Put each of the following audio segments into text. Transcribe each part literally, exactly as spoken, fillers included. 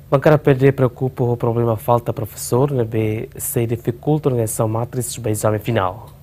Bankada P D preokupa ho problema falta profesór ne'ebé sei difikulta organizasaun matris ba ezame finál.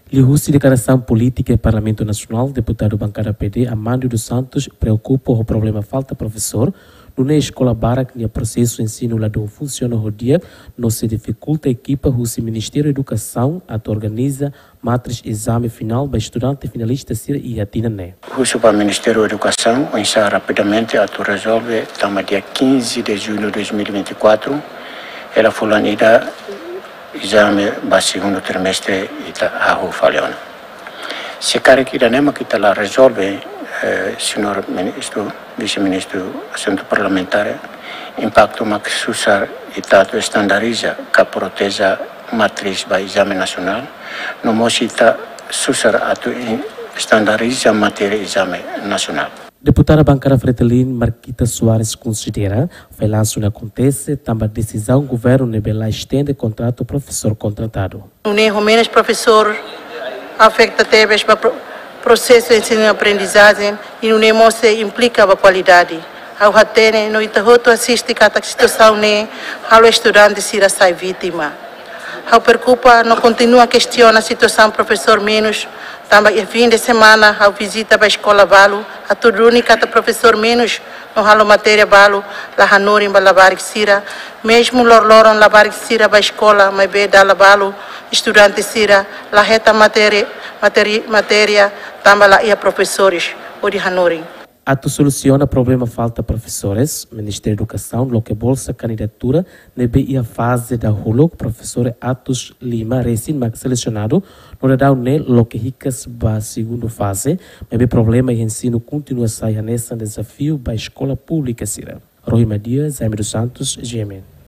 Liuhusi deklarasaun polítika iha Parlamentu Nasionál, deputadu bankada P D Armando dos Santos preokupa ho problema falta profesór, nune'e eskola barak nia prosesu ensinu ladún funsiona ho di'ak, no sei difikulta ekipa husi Ministériu Edukasaun atu organiza matris ezame finál ba estudante finalista sira iha tinan ne'e. Husu ba Ministériu Edukasaun oinsá rapidamente atu rezolve tanba dia quinze de junho de dois mil e vinte e quatro, hela fulan ida ezame ba segundu trimestre ita hahú fali ona. Se karik ida-ne'e mak ita la rezolve, eh, señór Ministru, Vise-Ministru Asuntu Parlamentár, impaktu mak susar ita atu estandariza ka proteja matris ba ezame nasionál, no mós ita susar atu i-, estandariza matéria ezame nasionál. Deputada bankada Fretilin, Marquita Soares, konsidera fallansu ne'e akontese tanba desizaun governu ne'ebé la estende kontratu profesór kontratadu. Nune'e ho menus profesór afeta tebes ba pro-, prosesu ensinu-aprendizajen, i nune'e mós sei implika ba kualidade. Ha'u hatene no ita hotu asiste katak situasaun ne'e halo estudante sira sai vítima. Ha'u preokupa no kontinua kestiona situasaun profesór menus, tanba iha fin de semana ha'u vizita ba eskola balu atu duni katak profesór menus no halo matéria balu la hanorin ba labarik sira, mezmu loroloron labarik sira ba eskola, maibé dala balu estudante sira la hetan matéria, matéri-, matéria tanba la iha profesores hodi hanorin. Atu solusiona problema falta profesores, Ministériu Edukasaun loke bolsa kandidatura ne'ebé iha faze dahuluk, profesór atus lima resin mak selesionadu, no daudaun ne'e loke hikas ba segundu faze, maibé problema iha ensinu kontinua sai hanesan dezafiu ba eskola públika sira. Rohi Madia, Jaime dos Santos, G M N.